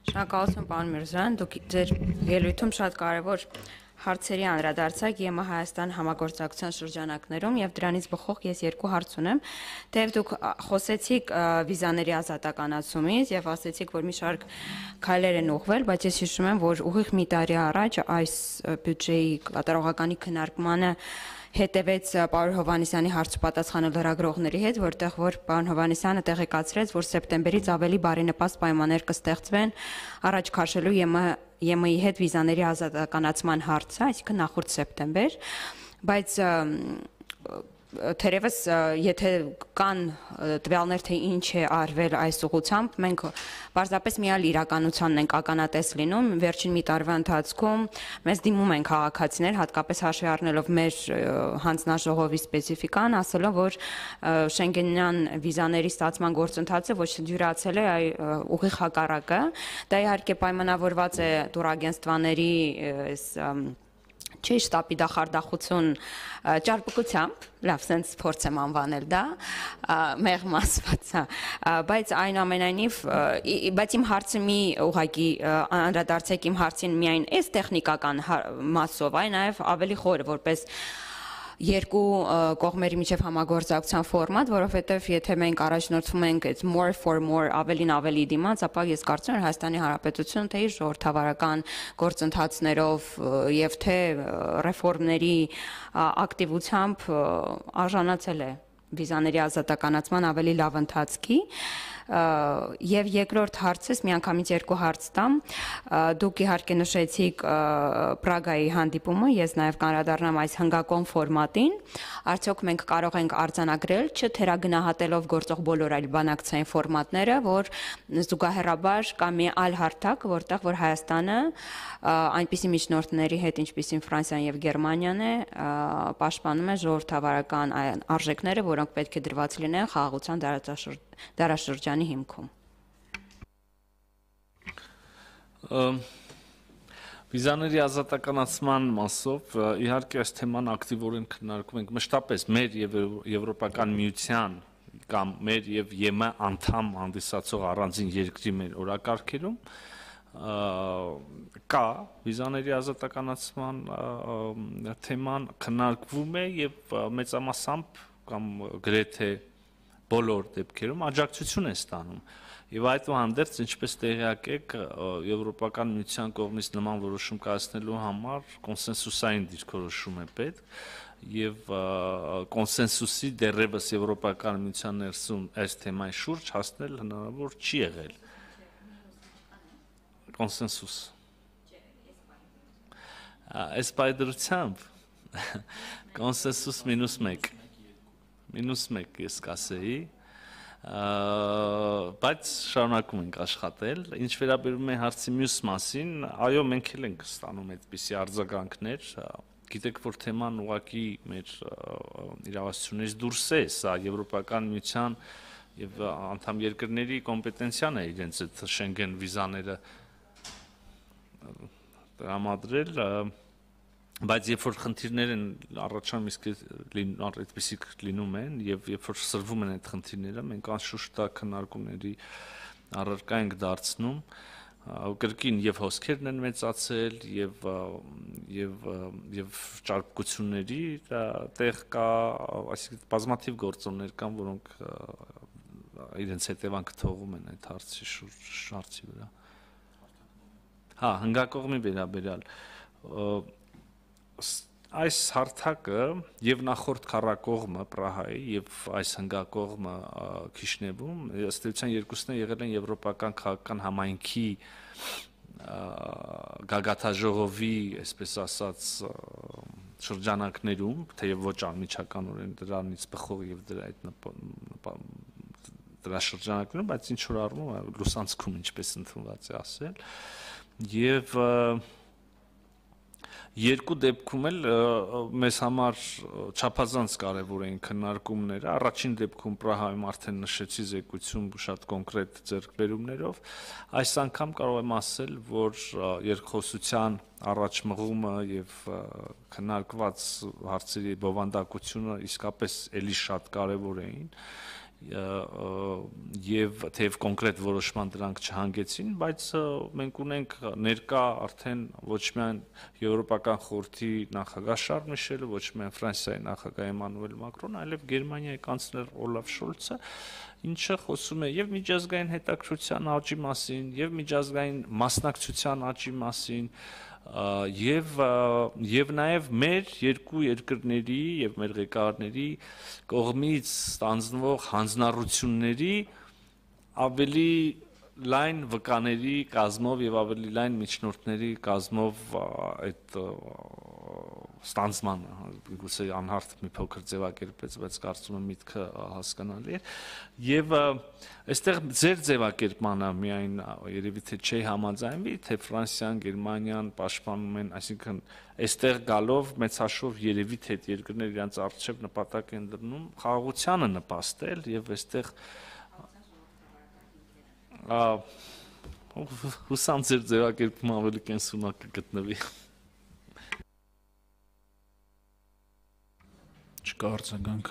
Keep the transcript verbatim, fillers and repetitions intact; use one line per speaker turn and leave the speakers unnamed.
Շնորհակալություն, պարոն Միրզոյան, դուք ձեր ելույթում շատ կարևոր հարցերի անդրադարձակ ԵՄ Հայաստան համագործակցության շրջանակներում եւ դրանից բխող ես երկու հարց ունեմ, թեև դուք խոսեցիք վիզաների ազատականացումից եւ ասեցիք, որ մի շարք քայլեր են ուղղվել, բայց ես հիշում եմ, որ ուղիղ մի տարի առաջ այս բյուջեի կատարողականի քննարկմանը հետևեց պարոն Հովհաննիսյանի հարց ու պատասխանը լրագրողների հետ, որտեղ որ պարոն Հովհաննիսյանը տեղեկացրեց, որ սեպտեմբերից ավելի բարենպաստ պայմաններ կստեղծվեն առաջ քաշելու ԵՄ-ի հետ վիզաների ազատականացման հարցը, այսինքն նախորդ սեպտեմբեր, բայց թերևս եթե կան տվյալներ, թե ինչ է արվել այս ուղղությամբ, մենք պարզապես միալ իրականությանն ենք ականատես լինում, վերջին մի տարվա ընթացքում մեզ դիմում են քաղաքացիներ, հատկապես հաշվի առնելով մեր հանձնաժողովի սպეციფიკան, ասելով, որ Շենգենյան վիզաների ստացման գործընթացը ոչ թե դյուրացել է, այլ ուղիղ հակառակը, դա իհարկե պայմանավորված է տուրագենստվաների չի շտապի դախարդախություն ճարպկությամբ, լավ, սենց փորձ եմ անվանել դա, մեղմ ասված, բայց այնուամենայնիվ, բայց իմ հարցը մի ուղղակի անդրադարձեք իմ հարցին միայն այս տեխնիկական մասով, այլ նաև ավելի խորը, որպես երկու կողմերի միջև համագործակցության ֆորմատ, որովհետև եթե մենք առաջնորդվում ենք այս more for more ավելին ավելի դիմաց, ապա ես կարծում եմ Հայաստանի Հանրապետությունը թե իր ժողովրդավարական գործընթացներով եւ թե ռեֆորմների ակտիվությամբ արժանացել է վիզաների ազատականացման ավելի լավ ընթացքի եւ երկրորդ հարցս միանգամից երկու հարց տամ դուք իհարկե նշեցիք Պրագայի հանդիպումը ես նաեւ կանրադառնամ այս հնգակոն ֆորմատին արդյոք մենք կարող ենք արձանագրել չթերագնահատելով գործող բոլոր այլ բանակցային ֆորմատները որ զուգահեռաբար կա մի այլ հարթակ որտեղ որ Հայաստանը այնպիսի միջնորդների հետ ինչպիսին Ֆրանսիան եւ Գերմանիան է պաշտպանում է ժողովրդավարական արժեքները որոնք պետք է դրված լինեն խաղաղության դարաշրջանի հիմքում
Վիզաների ազատականացման մասով իհարկե այս թեման ակտիվորեն քննարկում ենք մշտապես մեր եւ Եվրոպական միության կամ մեր եւ ԵՄ անդամ հանդիսացող առանձին երկրի մեր օրակարգերում կա վիզաների ազատականացման թեման քննարկվում է եւ մեծամասամբ կամ գրեթե բոլոր դեպքերում աջակցություն է ստանում եւ այդուհանդերձ ինչպես տեղյակ եք Եվրոպական միության կողմից նման որոշում կայացնելու համար կոնսենսուսային դիրքորոշում է պետք եւ կոնսենսուսի դեռևս Եվրոպական միության ներսում այս թեմայի շուրջ հասնել հնարավոր չի եղել կոնսենսուս այս բայդրությամբ կոնսենսուս մինուս մեկ մինուս մեկ ես կասեի բայց շարունակում ենք աշխատել ինչ վերաբերում է հարցի մյուս մասին այո մենք էլ ենք ստանում այդպիսի արձագանքներ գիտեք որ թեման ուղղակի մեր իրավասությունից դուրս է սա Եվրոպական միության եւ անդամ երկրների կոմպետենցիան է իրենց այդ Շենգեն վիզաները տրամադրել բայց երբ որ խնդիրներ են առաջանում իսկ այդպիսի լինում են եւ երբ որ սրվում են այդ խնդիրները մենք անշուշտ դա քննարկումների առարկա ենք դարձնում կրկին եւ հոսքերն են մեծացել եւ եւ եւ ճարպկությունների տեղ կա այսինքն բազմաթիվ գործոններ կան որոնք իրենց հետևանքը թողում են այդ հարցի շուրջ հարցի վրա հա հնգակողմի վերաբերյալ այս հարթակը եւ նախորդ քառակողմը Պրահայի եւ այս հնգակողմը Քիշնևում ըստ էության երկուսն են եղել են եվրոպական քաղաքական համայնքի գագաթաժողովի, այսպես ասած, շրջանակներում, թեև ոչ անմիջականորեն դրանից բխող եւ դրա այդ դրա շրջանակներում, բայց ինչ որ առումով լուսանցքում ինչպես ընդունված է ասել եւ երկու դեպքում էլ մեզ համար չափազանց կարևոր էին քննարկումները առաջին դեպքում Պրահայում արդեն նշեցի զեկույցում շատ կոնկրետ ձեռքբերումներով այս անգամ կարող եմ ասել որ երկխոսության առաջ մղումը եւ քննարկված հարցերի բովանդակությունը իսկապես էլի շատ կարևոր էին եւ թեև կոնկրետ որոշման դրանք չհանգեցին, բայց մենք ունենք ներկա արդեն ոչ միայն Եվրոպական խորհրդի նախագահ Շարլ Միշելը, ոչ միայն Ֆրանսիայի նախագահ Էմանուել Մակրոնը, այլև Գերմանիայի կանցլեր Օլաֆ Շոլցը, ինչը խոսում է եւ միջազգային հետաքրքրության աճի մասին, եւ միջազգային մասնակցության աճի մասին, եւ եւ նաեւ մեր երկու երկրների եւ մեր ղեկավարների կողմից ստանձնվող հանձնառությունների ավելի լայն վկաների կազմով եւ ավելի լայն միջնորդների կազմով այդ ստանձնմանը գուցե անհարթ մի փոքր ձևակերպեց, բայց կարծում եմ միտքը հասկանալի է եւ այստեղ ձեր ձևակերպմանը միայն երևի թե չի համաձայնվի, թե Ֆրանսիան, Գերմանիան պաշտպանում են, այսինքն այստեղ գալով մեծաշով երևի թե այդ երկրները իրենց առջև նպատակ են դնում խաղաղությանը նպաստել եւ այստեղ հուսամ ձեր ձևակերպումը ավելի կենսունակ կգտնվի։
Չկա արձագանք,